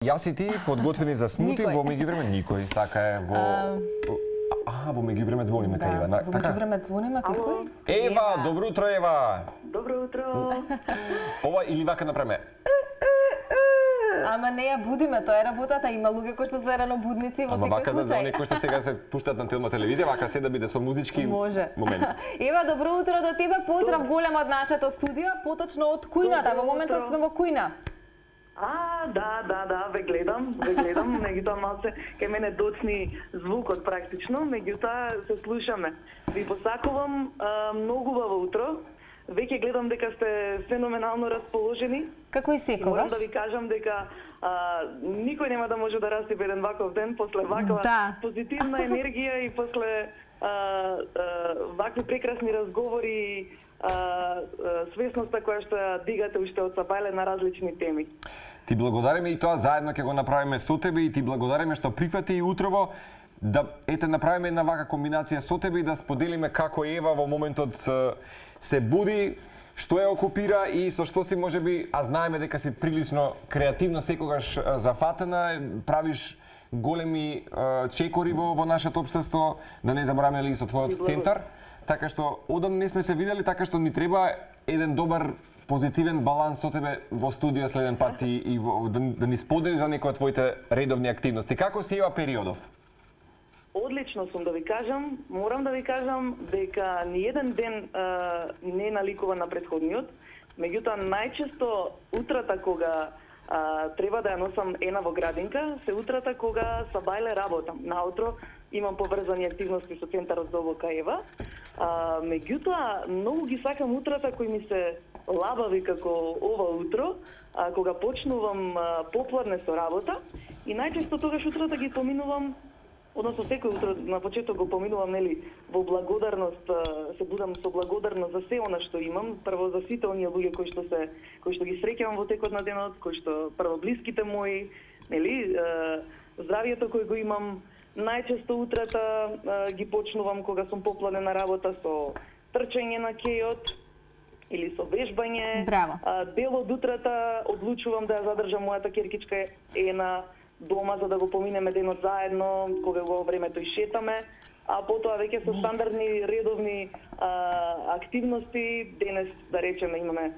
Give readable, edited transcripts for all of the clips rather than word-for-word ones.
Јас и ти подготвени за смути во меѓувреме никој. Така е во меѓувреме звониме кај Ева. Во меѓувреме звониме кај кој? Ева, добро утро Ева. Добро утро. Ова или вака направиме. Ама не ја будиме, тоа е работата. Има луѓе кои што се ранобудници во секој случај. Ама вака за оние кои што сега се пуштат на телевизија, вака се да биде со музички момент. Ева, добро утро до тебе. Поздрав голем од нашето студио, поточно од кујната. Во моментот сме во кујна. Да, ве гледам, меѓутоа малце кај мене доцни звукот практично, меѓутоа се слушаме. Ви посакувам многу убаво утро. Веќе гледам дека сте феноменално расположени. Како и секогаш. Морам да ви кажам дека никој нема да може да расипе еден ваков ден после ваква позитивна енергија и после вакви прекрасни разговори, свесноста која што ја дигате уште од Сабајле на различни теми. Ти благодариме и тоа заедно ќе го направиме со тебе и ти благодариме што прифати и утрово да направиме една вака комбинација со тебе и да споделиме како Ева во моментот се буди, што ја окупира и со што си можеби, а знаеме дека си прилично креативно секогаш зафатена, правиш големи чекори во нашето општество, да не забораваме и со твојот центар. Така што одам не сме се видели, така што ни треба еден добар позитивен баланс со тебе во студио следен пат и да ни споделиш за некои од твоите редовни активности. Како се Ева периодов? Одлично сум да ви кажам. Морам да ви кажам дека ни еден ден не наликува на претходниот. Меѓутоа, најчесто утрата кога треба да ја носам Ена во градинка, се утрата кога Сабајле работам. Наутро имам поврзани активности со центарот за обука Ева. Меѓутоа, многу ги сакам утрата кои ми се лабави како ова утро, кога почнувам попладне со работа и најчесто тогаш утрата ги поминувам, односно секој утро на почеток го поминувам, во благодарност, се будам со благодарност за се она што имам, прво за сите оние луѓе кои што ги среќавам во текот на денот, кои што прво блиските мои, здравието кој го имам. Најчесто утрата ги почнувам кога сум попладена работа со трчање на кејот или со вежбање. Браво. Дел од утрата одлучувам да ја задржам мојата керкичка Ена дома за да го поминеме денот заедно, кога во времето и шетаме, а потоа веќе со стандардни редовни активности. Денес, да речеме, имаме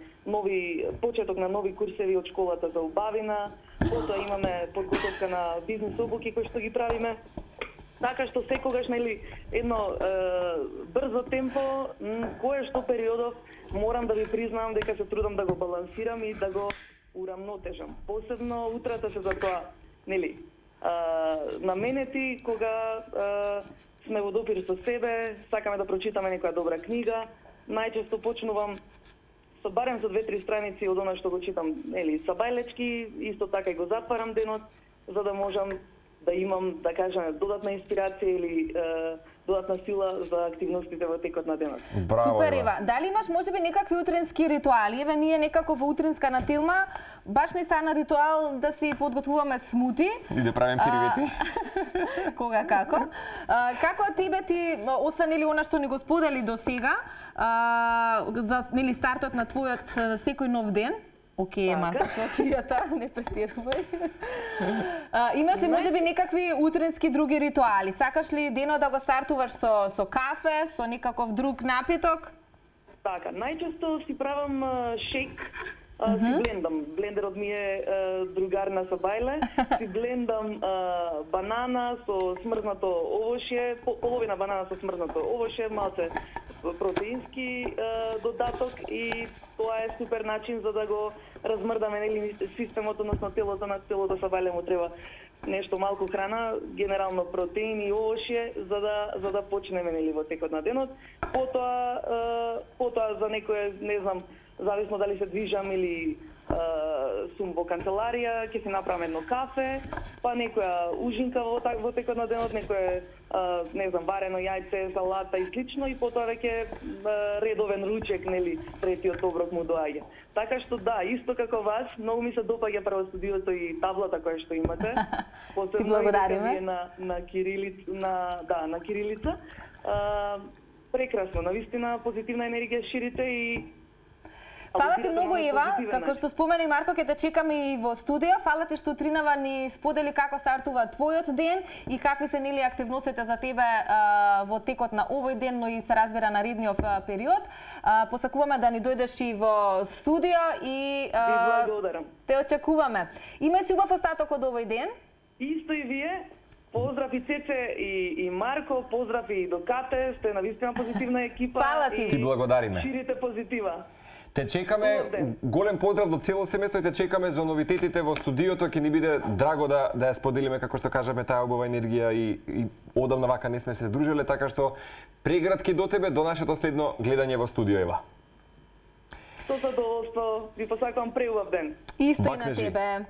почеток на нови курсеви од школата за убавина, потоа имаме подготовка на бизнес обуки кои што ги правиме. Така што секогаш едно брзо темпо, кое што периодов морам да ви признам дека се трудам да го балансирам и да го урамнотежам. Посебно утрата се за тоа наменети кога сме во допир со себе, сакаме да прочитаме некоја добра книга. Најчесто почнувам барем со 2-3 страници од она што го читам, Сабајлечки, исто така и го затварам денот, за да можам да имам, да кажеме, додатна инспирација или додатна сила за активностите во текот на денот. Супер, Ева. Дали имаш можеби некакви утрински ритуали? Еве, ние некако во утринска на Телма баш не стана ритуал да си подготвуваме смути. И да правим киривети. Кога како? Како тебе ти, освен она што ни го сподели до сега, за стартот на твојот секој нов ден? Океј, Марта, со очијата, не претирувај. Имаш ли можеби некакви утрински други ритуали? Сакаш ли денот да го стартуваш со кафе, со некаков друг напиток? Така, најчесто си правам шейк, си блендам. Блендерот ми е другар на Сабајле. Си блендам банана со смрзнато овошје, половина банана со смрзнато овошје, малце протеински додаток и тоа е супер начин за да го размрдаме системот, односно телото на целото Сабајле му треба нешто малку храна, генерално протеини и овошје за да почнеме во текот на денот. Потоа за некој, не знам, зависно дали се движам или сум во канцеларија, ќе си направам едно кафе, па некоја ужинка во текот на денот, некој не знам, варено јајце, салата и слично, и потоа веќе редовен ручек, третиот оброк му доаѓа. Така што да, исто како вас, многу ми се допаѓа прво студиото и таблата која што имате. Ти благодариме. На кирилица. Прекрасно, навистина позитивна енергија ширите и Фала ти многу, на Ева. позитивен Како начин. што спомена и Марко, ќе те чекаме и во студио. Фала ти што утринава ни сподели како стартува твојот ден и какви се нели активностите за тебе во текот на овој ден, но и се разбира наредниот период. Посакуваме да ни дојдеш и во студио и Ви благодарам. те очекуваме. Имај си убав остаток од овој ден. Исто и вие. Поздрав и Цece и Марко, поздрав и до Кате, сте навистина позитивна екипа. Фала ти. и Ти благодариме. Ширите позитива. Те чекаме, Добар ден. голем поздрав до цело семејство и те чекаме за новитетите во студиото. Ќе ни биде драго да ја споделиме, како што кажаме, таа убава енергија и одамна вака не сме се дружиле, така што прегратки до тебе, до нашето следно гледање во студио, Ева. Со задоволство, ви посакувам преубав ден. Исто и Бак на кажи. тебе.